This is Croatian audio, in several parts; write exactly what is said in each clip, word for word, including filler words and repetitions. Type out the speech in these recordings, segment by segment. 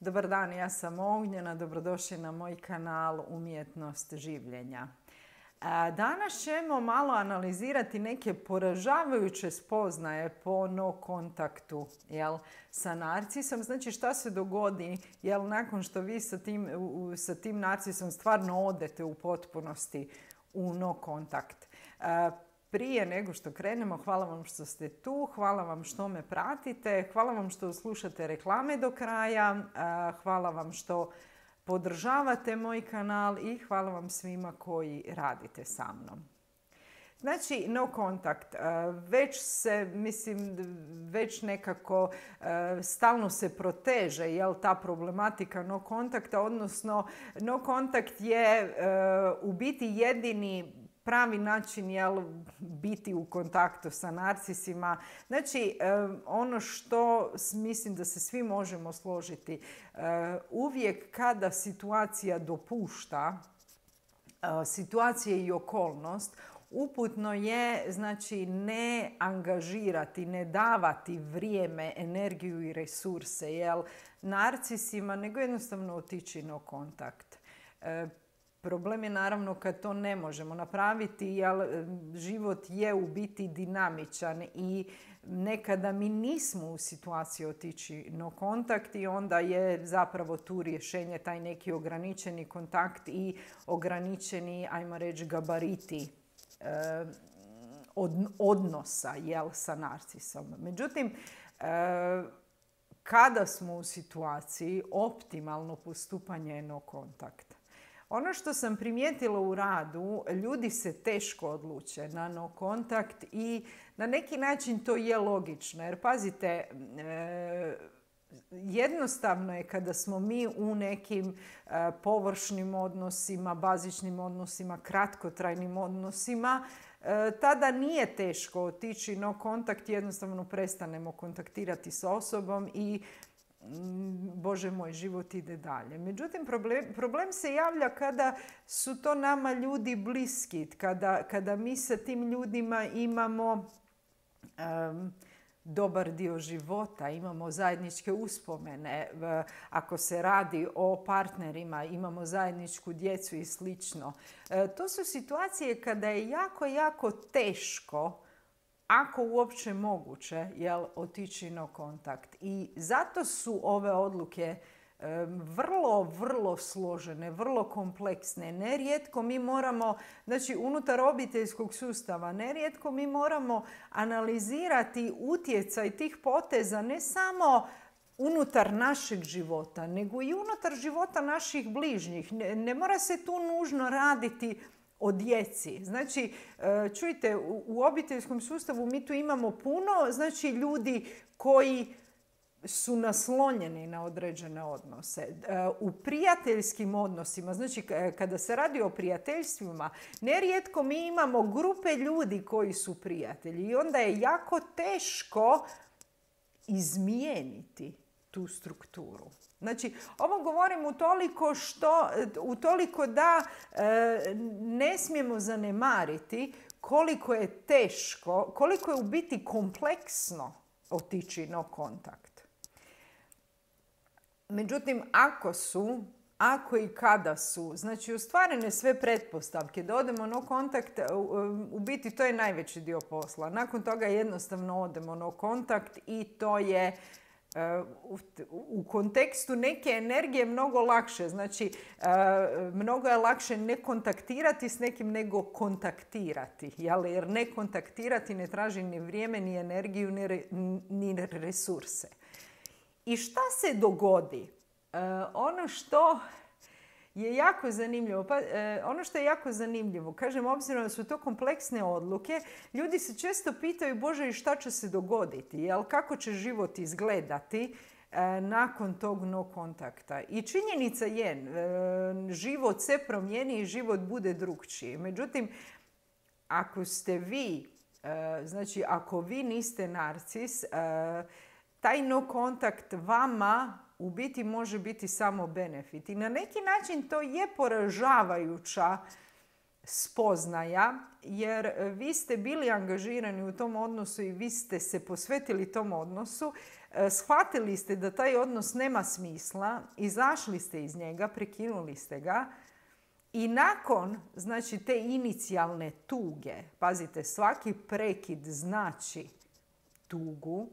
Dobar dan, ja sam Ognjena, dobrodošli na moj kanal Umjetnost življenja. Danas ćemo malo analizirati neke poražavajuće spoznaje po no kontaktu jel, sa narcisom. Znači šta se dogodi jel, nakon što vi sa tim, sa tim narcisom stvarno odete u potpunosti u no kontakt. Prije nego što krenemo, hvala vam što ste tu, hvala vam što me pratite, hvala vam što slušate reklame do kraja, hvala vam što podržavate moj kanal i hvala vam svima koji radite sa mnom. Znači, no kontakt, već se, mislim, već nekako stalno se proteže, jel, ta problematika no kontakta, odnosno no kontakt je u biti jedini pravi način jel, biti u kontaktu sa narcisima. Znači, ono što mislim da se svi možemo složiti, uvijek kada situacija dopušta, situacija i okolnost, uputno je znači ne angažirati, ne davati vrijeme, energiju i resurse jel, narcisima, nego jednostavno otići no kontakt. Problem je naravno kad to ne možemo napraviti, jer život je u biti dinamičan i nekada mi nismo u situaciji otići no kontakt i onda je zapravo tu rješenje taj neki ograničeni kontakt i ograničeni, ajmo reći, gabariti eh, od, odnosa jel, sa narcisom. Međutim, eh, kada smo u situaciji optimalno postupanje je no kontakt. Ono što sam primijetila u radu, ljudi se teško odluče na no kontakt i na neki način to je logično. Jer pazite, e, jednostavno je kada smo mi u nekim e, površnim odnosima, bazičnim odnosima, kratkotrajnim odnosima, e, tada nije teško otići no kontakt, jednostavno prestanemo kontaktirati s osobom i Bože moj, život ide dalje. Međutim, problem, problem se javlja kada su to nama ljudi bliski, kada, kada mi sa tim ljudima imamo um, dobar dio života, imamo zajedničke uspomene, ako se radi o partnerima, imamo zajedničku djecu i slično. E, to su situacije kada je jako, jako teško, ako uopće moguće, jel, otići no kontakt. I zato su ove odluke e, vrlo, vrlo složene, vrlo kompleksne. Nerijetko mi moramo, znači unutar obiteljskog sustava, nerijetko mi moramo analizirati utjecaj tih poteza ne samo unutar našeg života, nego i unutar života naših bližnjih. Ne, ne mora se tu nužno raditi o djeci. Znači, čujte, u obiteljskom sustavu mi tu imamo puno, znači, ljudi koji su naslonjeni na određene odnose. U prijateljskim odnosima, znači kada se radi o prijateljstvima, nerijetko mi imamo grupe ljudi koji su prijatelji i onda je jako teško izmijeniti tu strukturu. Znači, ovo govorim utoliko, što, utoliko da e, ne smijemo zanemariti koliko je teško, koliko je u biti kompleksno otići no kontakt. Međutim, ako su, ako i kada su, znači ostvarene sve pretpostavke da odemo no kontakt, u biti to je najveći dio posla. Nakon toga jednostavno odemo no kontakt i to je u kontekstu neke energije mnogo lakše. Znači, mnogo je lakše ne kontaktirati s nekim nego kontaktirati. Jer ne kontaktirati ne traži ni vrijeme, ni energiju, ni resurse. I šta se dogodi? Ono što je jako zanimljivo, pa, eh, ono što je jako zanimljivo, kažem, obzirom da su to kompleksne odluke, ljudi se često pitaju, Bože, i šta će se dogoditi, jel, kako će život izgledati eh, nakon tog no kontakta. I činjenica je, eh, život se promijeni i život bude drukčiji. Međutim, ako ste vi, eh, znači ako vi niste narcis, eh, taj no kontakt vama u biti može biti samo benefit. I na neki način to je poražavajuća spoznaja, jer vi ste bili angažirani u tom odnosu i vi ste se posvetili tom odnosu. shvatili ste da taj odnos nema smisla, izašli ste iz njega, prekinuli ste ga i nakon, znači, te inicijalne tuge, pazite, svaki prekid znači tugu,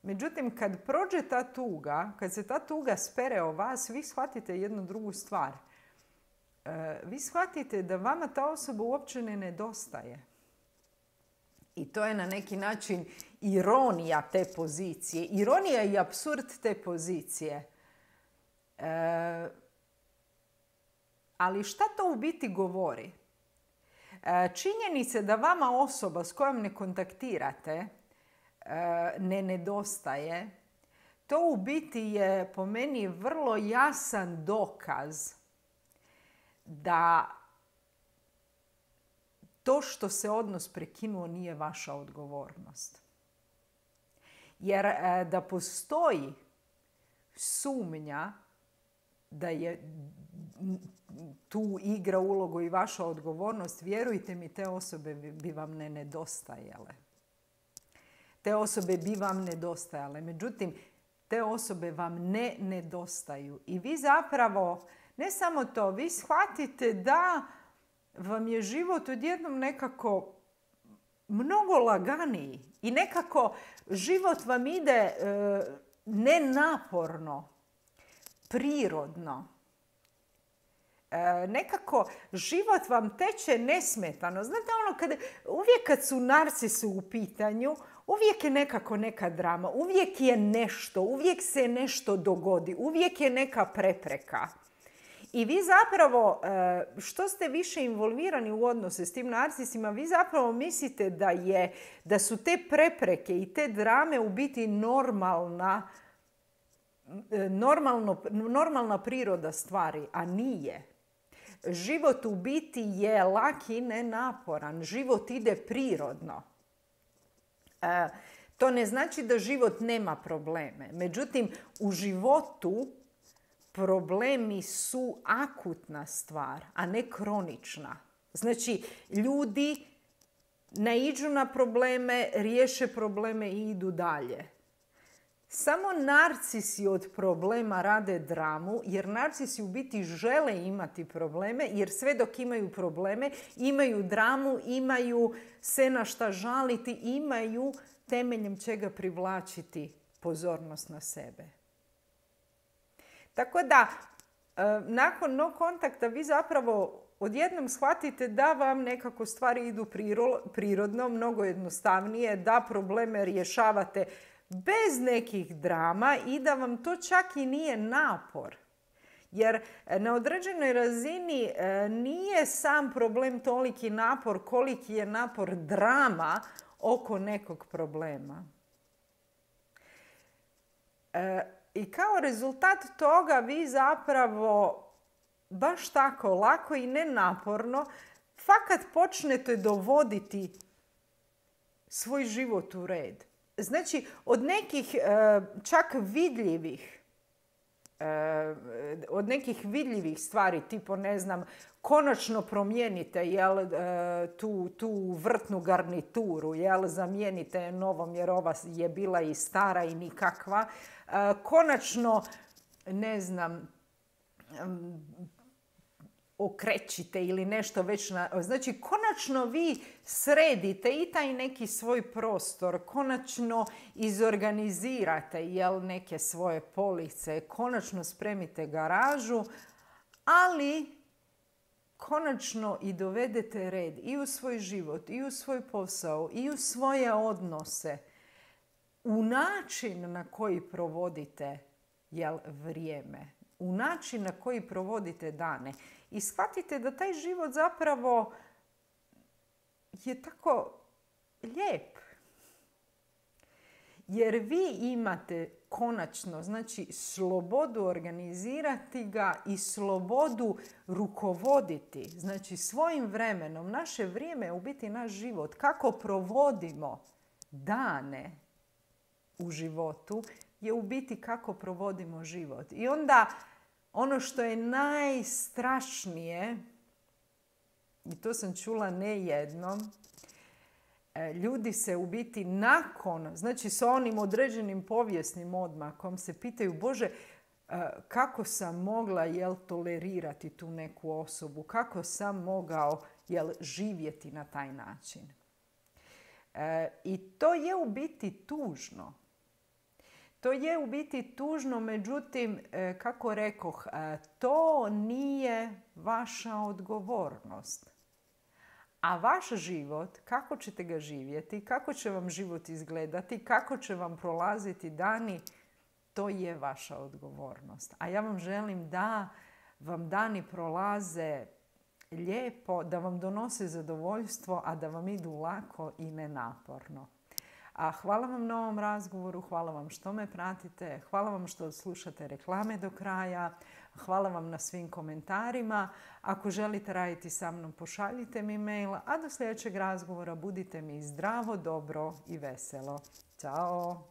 međutim, kad prođe ta tuga, kad se ta tuga spere o vas, vi shvatite jednu drugu stvar. Vi shvatite da vama ta osoba uopće ne nedostaje. I to je na neki način ironija te pozicije. Ironija i apsurd te pozicije. E, ali šta to u biti govori? E, činjenica da vama osoba s kojom ne kontaktirate e, ne nedostaje, to u biti je po meni vrlo jasan dokaz da to što se odnos prekinuo nije vaša odgovornost. Jer e, da postoji sumnja da je tu igra ulogu i vaša odgovornost, vjerujte mi, te osobe bi vam ne nedostajale. Te osobe bi vam nedostajale. Međutim, te osobe vam ne nedostaju. I vi zapravo, ne samo to, vi shvatite da vam je život odjednom nekako mnogo laganiji i nekako život vam ide e, nenaporno, prirodno. E, nekako život vam teče nesmetano. Znate ono, kada, uvijek kad su narcisi u pitanju, uvijek je nekako neka drama, uvijek je nešto, uvijek se nešto dogodi, uvijek je neka prepreka. I vi zapravo, što ste više involvirani u odnose s tim narcisima, vi zapravo mislite da, je, da su te prepreke i te drame u biti normalna, normalno, normalna priroda stvari, a nije. Život u biti je lak i nenaporan. Život ide prirodno. To ne znači da život nema probleme. Međutim, u životu problemi su akutna stvar, a ne kronična. Znači, ljudi naiđu na probleme, riješe probleme i idu dalje. Samo narcisi od problema rade dramu, jer narcisi u biti žele imati probleme, jer sve dok imaju probleme, imaju dramu, imaju se na šta žaliti, imaju temeljem čega privlačiti pozornost na sebe. Tako da, nakon no kontakta vi zapravo odjednom shvatite da vam nekako stvari idu prirodno, mnogo jednostavnije, da probleme rješavate bez nekih drama i da vam to čak i nije napor. Jer na određenoj razini nije sam problem toliki napor koliki je napor drama oko nekog problema. I kao rezultat toga vi zapravo baš tako lako i nenaporno fakat počnete dovoditi svoj život u red. Znači, od nekih čak vidljivih, od nekih vidljivih stvari, tipo, ne znam, konačno promijenite jel, tu, tu vrtnu garnituru, jel, zamijenite novom jer ova je bila i stara i nikakva. Konačno, ne znam, okrećite ili nešto već na... Znači, konačno vi sredite i taj neki svoj prostor, konačno izorganizirate jel, neke svoje police, konačno spremite garažu, ali konačno i dovedete red i u svoj život, i u svoj posao, i u svoje odnose, u način na koji provodite jel, vrijeme, u način na koji provodite dane. I shvatite da taj život zapravo je tako lijep. Jer vi imate konačno, znači, slobodu organizirati ga i slobodu rukovoditi. Znači, svojim vremenom. Naše vrijeme je u biti naš život. Kako provodimo dane u životu je u biti kako provodimo život. I onda ono što je najstrašnije, i to sam čula ne jednom, Ljudi se u biti nakon, znači sa onim određenim povijesnim odmakom se pitaju, Bože, kako sam mogla jel, tolerirati tu neku osobu, kako sam mogao jel, živjeti na taj način. E, I to je u biti tužno. To je u biti tužno, međutim, kako rekoh, to nije vaša odgovornost. A vaš život, kako ćete ga živjeti, kako će vam život izgledati, kako će vam prolaziti dani, to je vaša odgovornost. A ja vam želim da vam dani prolaze lijepo, da vam donose zadovoljstvo, a da vam idu lako i nenaporno. A hvala vam na ovom razgovoru, hvala vam što me pratite, hvala vam što slušate reklame do kraja, hvala vam na svim komentarima. Ako želite raditi sa mnom, pošaljite mi mail, a do sljedećeg razgovora budite mi zdravo, dobro i veselo. Ćao!